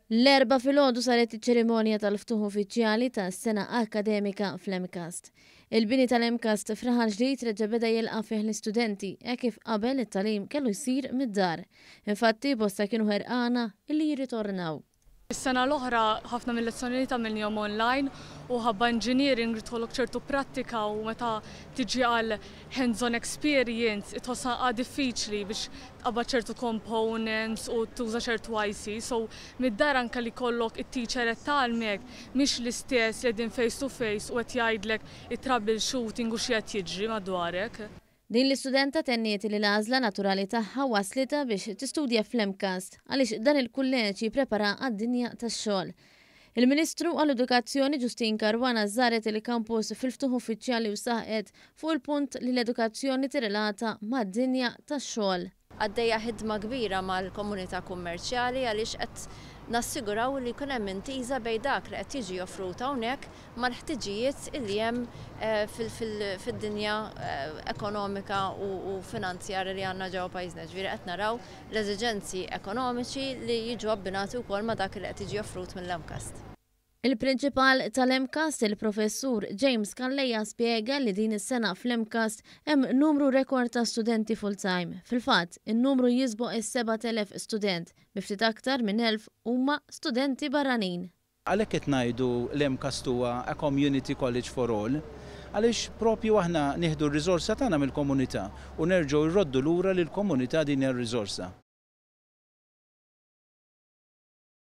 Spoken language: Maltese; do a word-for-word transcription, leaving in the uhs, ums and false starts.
L-Erbgħa filgħodu saret iċ-ċerimonja tal-ftuħ uffiċjali tas-sena akkademika fl-M CAST. Il-bini tal-M CAST f'Raħal Ġdid reġa' beda jilqa' fih l-istudenti hekk kif qabel it-tagħlim kellu jsir mid-dar. Infatti, bosta kienu ħerqana illi jirritornaw. Is-sena l-oħra ħafna mill-lezzjonijiet għamilnihom online u ħabba engineering tkollok ċertu prattika u meta tiġi għal hands-on experience itħossha diffiċli biex tqabbad ċertu components u tuża ċertu I C. So mid-dar, anka li kollok it-teacher qed tgħallmek, mhix l-istess li din face to face u qed jgħidlek it-troubleshooting u xi qed jiġri madwarek. Din l-istudenta tenniet li l-għażla naturali tagħha waslita biex tistudja fl-M CAST għaliex dan il-kulleġġ jipprepara għad-dinja tax-xogħol. Il-Ministru għall-Edukazzjoni Justyne Caruana żaret il-kampus fil-ftuħ uffiċjali u saħqet fuq il-punt li l-edukazzjoni tirrelata mad-dinja tax-xogħol. Għaddejja ħidma kbira mal-komunità kummerċjali għaliex qed nassiguraw li jkun hemm intiża bejn dak li qed jiġi offrut hawnhekk mal-ħtiġijiet illi hemm eh, fid-dinja eh, ekonomika u finanzjarja li għandna ġewwa pajjiżna. Ġifieri qed naraw l-eżiġenzi ekonomiċi li jiġu abbinati wkoll ma' dak li qed jiġi offrut mill-M CAST. Il-prinċipal tal-M CAST, il-professur James Calleja, spiega li din is-sena fl-M CAST hemm numru rekord ta' studenti full-time. Fil-fatt, in-numru jisboq is-sebat elef student, bi ftit aktar minn elf huma studenti barranin. Għalhekk qed ngħidu l-M CAST huwa a community college for all, għaliex propju aħna nieħdu r-riżorsa tagħna mill-komunità u nerġgħu rroddu lura lill-komunità din ir-riżorsa.